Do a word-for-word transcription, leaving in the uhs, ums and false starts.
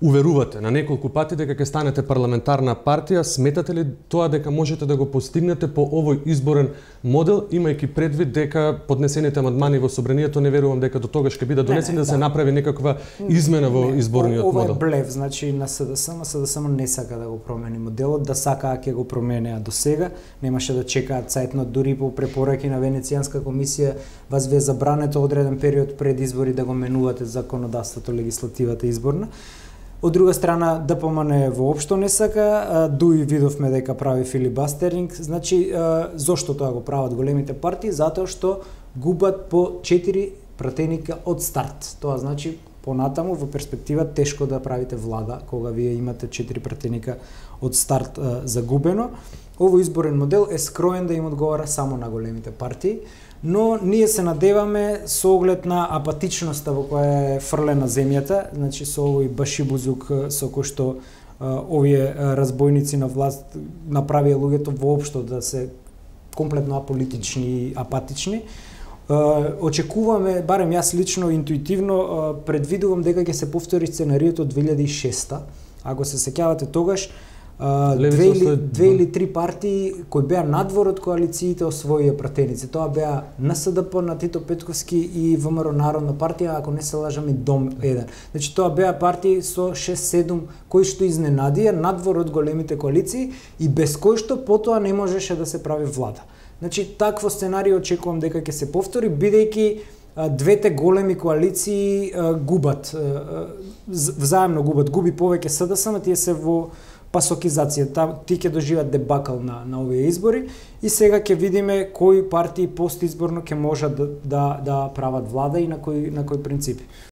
уверувате на неколку пати дека ќе станете парламентарна партија, сметате ли тоа дека можете да го постигнете по овој изборен модел, имајќи предвид дека поднесените амандмани во собранието не верувам дека до тогаш ќе бидат донесени, да се направи некаква измена во не, изборниот ова модел? Ова е блев, значи на СДСМ, СДСМ не сака да го промени моделот, да сакаа ќе го променеа до сега, немаше да чекаат цајтно, дури по препораки на Венецијанска комисија вас ве забрането одреден период пред избори да го менувате законодавството, легислативата изборна. Од друга страна, ДПМН воопшто не сака, дуи видовме дека прави филибастеринг, значи зошто тоа го прават големите партии? Затоа што губат по четири пратеника од старт. Тоа значи понатаму во перспектива тешко да правите влада кога вие имате четири пратеника од старт загубено. Овој изборен модел е скроен да им одговара само на големите партии, но ние се надеваме со оглед на апатичноста во која е фрлена земјата, значи со овој башибузук со кој што а, овие разбойници на власт направија луѓето воопшто да се комплетно аполитични и апатични. А, очекуваме, барем јас лично интуитивно а, предвидувам дека ќе се повтори сценариото од две илјади и шеста. Ако се сеќавате тогаш, Uh, две, или, две или три партии кои беа надвор од коалициите освоија пратеници. Тоа беа НСДП на Тито Петковски и ВМРО Народна партија, ако не се лажам и Дом еден. Значи тоа беа партии со шест седум кои што изненадија надвор од големите коалиции и без кои што потоа не можеше да се прави влада. Значи такво сценарио очекувам дека ќе се повтори, бидејќи двете големи коалиции uh, губат, uh, взаемно губат, губи повеќе СДСМ, тие се во пасокизација, ти ќе доживеат дебакал на, на овие избори и сега ќе видиме кои партии постизборно ќе можат да, да, да прават влада и на кои, на кои принципи.